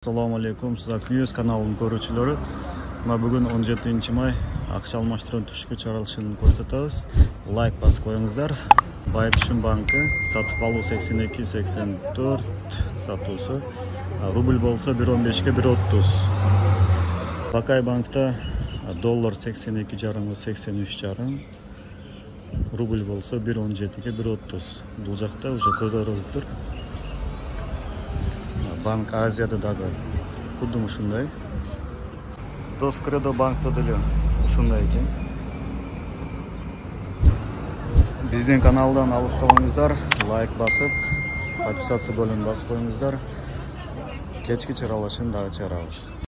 Assalomu alaykum, Sizak News kanalının görүүчүлөрү. Бүгүн 17 may акча алмаштыруу түшкү чыгарылышын көрсөтөбүз. Лайк басып коюңуздар. Байтүшүн банкы сатып алуу 82-84 сатуусу. Рубль болсо 1.15 1.30. Бакай банкта доллар 82,5-83,5. Рубль болсо 1.17 1.30. Бул жакта уже көтөрүлүптүр. Банк Азияда дагы кудум ушундай. Доскредо банкта деле ушундай экен. Биздин каналдан алыстабаңыздар, лайк басып, подписация бөлүмүн басып коюңуздар. Кечки чыгарылышын дагы чыгарабыз.